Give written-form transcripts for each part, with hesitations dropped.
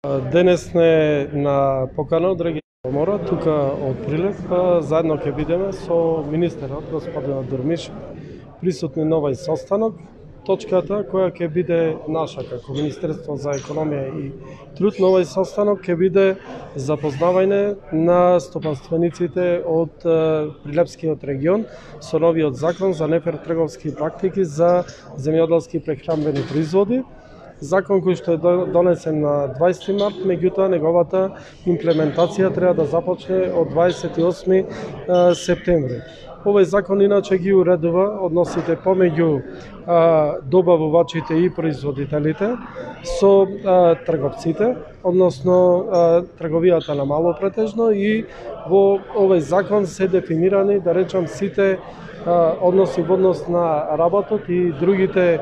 Денес не на покана од регионална комора, тука од Прилеп, заедно ќе бидеме со министерот, господин Дурмиш, присутни на овој состанок. Точката која ќе биде наша како Министерство за економија и труд на овој состанок ќе биде запознавање на стопанствениците од Прилепскиот регион со новиот закон за нефер трговски практики за земјоделски прехранбени производи. Закон кој што е донесен на 20 март, меѓутоа неговата имплементација треба да започне од 28 септември. Овој закон иначе ги уредува односите помеѓу добавувачите и производителите со трговците, односно трговијата на мало претежно, и во овој закон се дефинирани, да речам, сите односи во однос на работот и другите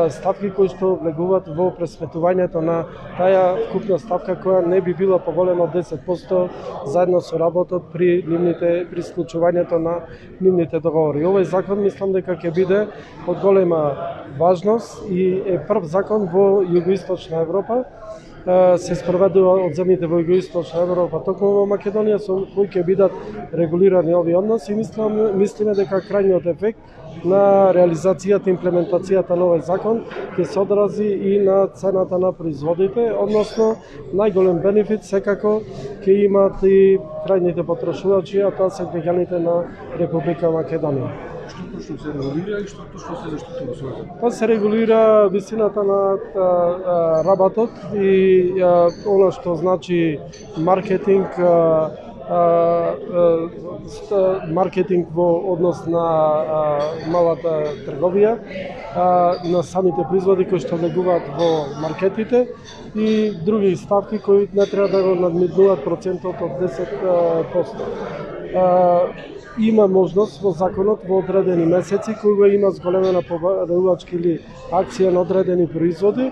ставки кои што влегуваат во пресметувањето на таа вкупна ставка која не би била поголема од 10% заедно со работот при склучувањето на нивните договори. Овој закон мислам дека ќе биде од голема важност и е прв закон во Југоисточна Европа. Се спроведува од земјите во Југоисточна Европа, токму во Македонија, со кои ќе бидат регулирани овие односи. Мислиме дека крајниот ефект на реализацијата и имплементацијата на овој закон ќе се одрази и на цената на производите, односно најголем бенефит секако ќе имат и крајните потрошувачи, а тоа се граѓаните на Република Македонија. Што точно се регулира и што точно се заштитува со закон? Па се регулира висината на работот и она што значи маркетинг во однос на малата трговија, на самите производи кои што влегуваат во маркетите и други ставки кои не треба да го надминуваат процентот од 10%. Има можност во законот во одредени месеци кога има зголемена побарувачка или акција на одредени производи,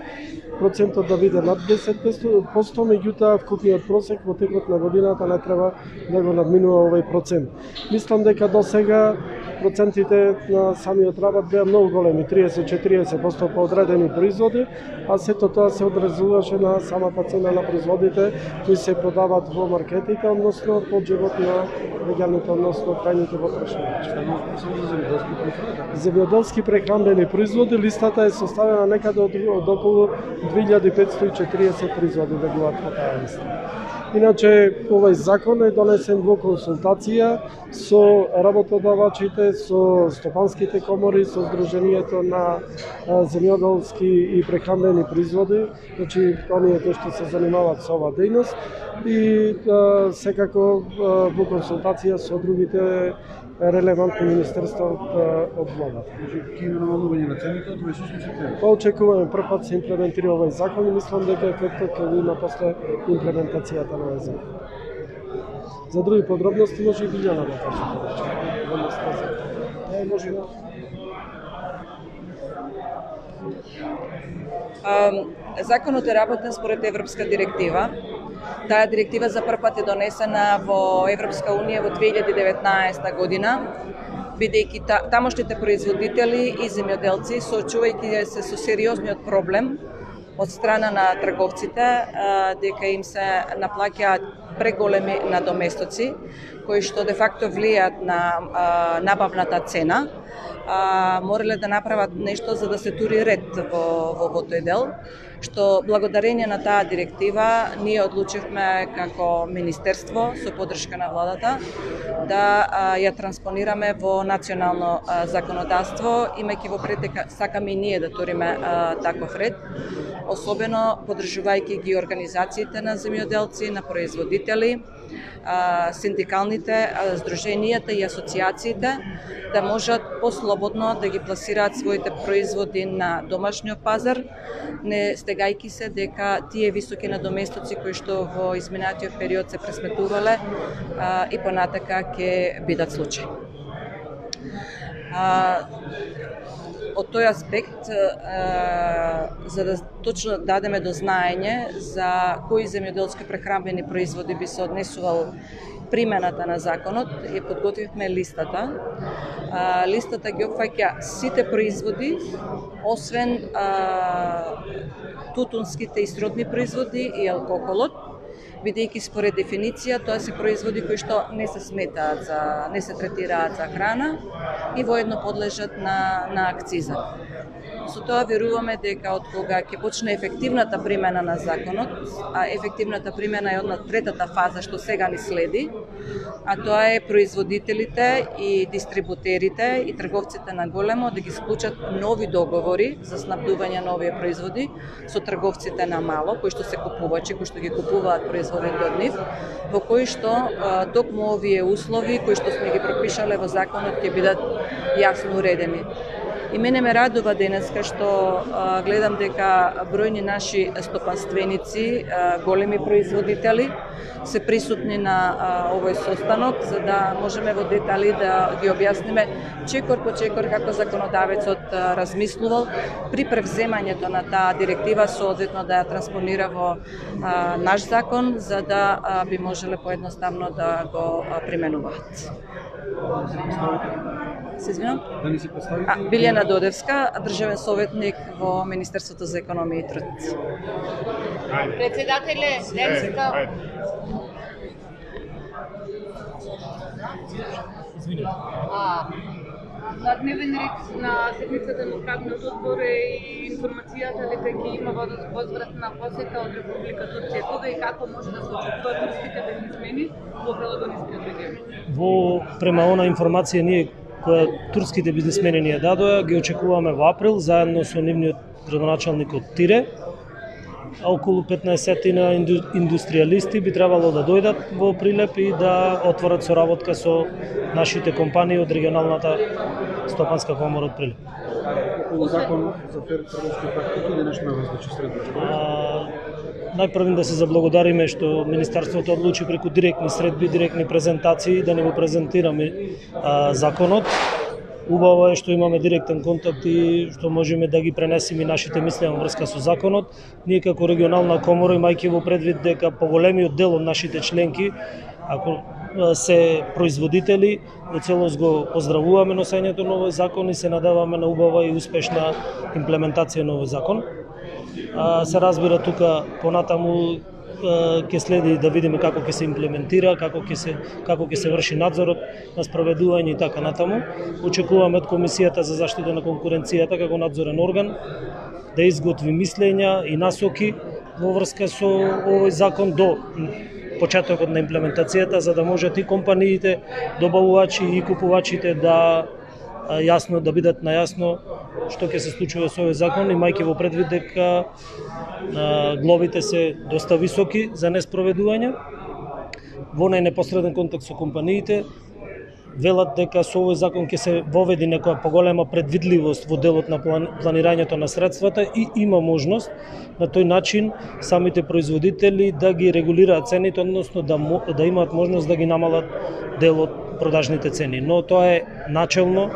процентот да биде над 10%, меѓутоа вкупниот просек во текот на годината не треба да го надминува овој процент. Мислам дека до сега процентите на самиот работ беа многу големи, 30-40% по одредени производи, а сето тоа се одразуваше на самата цена на производите кои се продаваат во маркетите, односно по джебот на граѓаните, односно крајните потрошувачи. Земјоделски прехранбени производи, листата е составена некаде од околу 2540 производи влегуваат во таа листа. Иначе, овој закон е донесен во консултација со работодавачите, со стопанските комори, со Сдруженијето на земјоделски и прехранбени производи, значи оние кои што се занимаваат со оваа дејност, и секако во консултација со другите релевантни министерства од владата. Ќе има намалување на цените од 28 септември. Па очекуваме прв пат се имплементира овој закон и мислам дека ефектот ќе го има после имплементацијата на овој закон. За други подробности може и Билјана да каже повеќе. Може Законот е работен според Европска директива. Таа директива за прв пат е донесена во Европска Унија во 2019 година, бидејќи тамошните производители и земјоделци, соочувајќи се со сериозниот проблем од страна на трговците, дека им се наплаќаат преголеми надоместоци, кои што де факто влијаат на набавната цена, морале да направат нешто за да се тури ред во тој дел, што благодарение на таа директива ние одлучивме како министерство со поддршка на владата да ја транспонираме во национално законодавство, имајќи во пред дека сакаме и ние да туриме таков ред, особено поддржувајќи ги организациите на земјоделци, на производители, синдикалните здруженијата и асоциациите да можат послободно да ги пласираат своите производи на домашниот пазар, не стегајќи се дека тие високи надоместоци кои што во изминатиот период се пресметувале и понатака ќе бидат случај. од тој аспект, за да точно дадеме до знаење за кои земјоделски прехранбени производи би се однесувал примената на законот, ја подготвивме листата. Листата ги опфаќа сите производи, освен тутунските и сродни производи и алкохолот, бидејќи според дефиниција тоа се производи кои што не се сметаат не се третираат за храна и воедно подлежат на акциза. Со тоа веруваме дека од кога ќе почне ефективната примена на законот, а ефективната примена е од третата фаза што сега ни следи, а тоа е производителите и дистрибутерите и трговците на големо да ги склучат нови договори за снабдување на овие производи со трговците на мало, кои што се купувачи, кои што ги купуваат производите од нив, во кои што токму овие услови кои што сме ги пропишале во законот ќе бидат јасно уредени. И мене ме радува денеска што гледам дека бројни наши стопанственици, големи производители се присутни на овој состанок, за да можеме во детали да ги објасниме чекор по чекор како законодавецот размислувал при превземањето на таа директива, соодветно да ја транспонира во наш закон, за да би можеле поедноставно да го применуваат. Се извинам? Да ни се представите? Билјана Додевска, државен советник во Министерството за економија и труд. Председателе, денеска на дневен ред на седмицата на Правниот одбор е и информацијата дека ќе има возвратна посета од Република Турција. Кога и како може да се очекуваат турските бизнисмени во Пелопонескиот регион? Према она информација ние која турските бизнисмени ни ја дадоа, ги очекуваме во април заедно со нивниот градоначалник од Тире. А околу 15-тина индустријалисти би требало да дојдат во Прилеп и да отворат соработка со нашите компании од регионалната стопанска комора од Прилеп. Околу закон за фер трговски практики или нешто различно средбичко? Најпрвен да се заблагодариме што Министерството одлучи преку директни средби, директни презентации да ни го презентираме законот. Убаво е што имаме директен контакт и што можеме да ги пренесеме нашите мисли во врска со законот. Ние како регионална комора, имајќи во предвид дека поголемиот дел од нашите членки, ако се производители, во целост го поздравуваме носењето на овој закон и се надеваме на убава и успешна имплементација на овој закон. Се разбира тука понатаму ќе следи да видиме како ќе се имплементира, како ќе се врши надзорот на спроведување и така натаму. Очекуваме од Комисијата за заштита на конкуренцијата како надзорен орган да изготви мислења и насоки во врска со овој закон до почетокот на имплементацијата, за да можат и компаниите, добавувачи и купувачите да јасно да бидат најасно што ќе се случува со овој закон, имајќи во предвид дека глобите се доста високи за неспроведување. Во најнепосреден контакт со компаниите велат дека со овој закон ќе се воведи некоја поголема предвидливост во делот на планирањето на средствата и има можност на тој начин самите производители да ги регулираат цените, односно да имаат можност да ги намалат дел од продажните цени. Но тоа е начелно.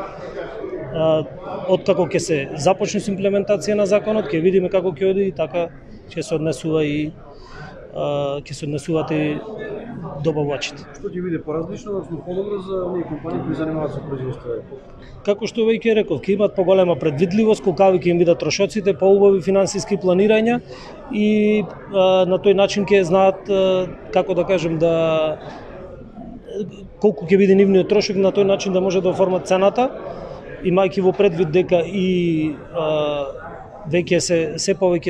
Откако ќе се започне со имплементација на законот, ќе видиме како ќе оди и така ќе се однесува и ќе се однесуваат и добавувачите. Што ќе биде поразлично, односно подобро за оние компании кои занимаваат со производство? Како што веќе реков, ќе имат поголема предвидливост, колкави ќе им бидат трошоците, поубави финансиски планирања и на тој начин ќе знаат како да кажем колку ќе биде нивниот трошок, на тој начин да може да оформат цената, имајќи во предвид дека и веќе се повеќе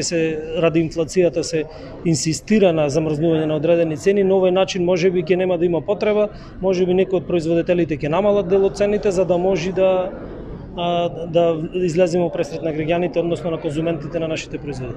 ради инфлацијата се инсистира на замрзнување на одредени цени, на овој начин можеби ќе нема да има потреба, можеби некои од производителите ќе намалат дел од цените за да може да излеземе пресред на граѓаните, односно на конзументите на нашите производи.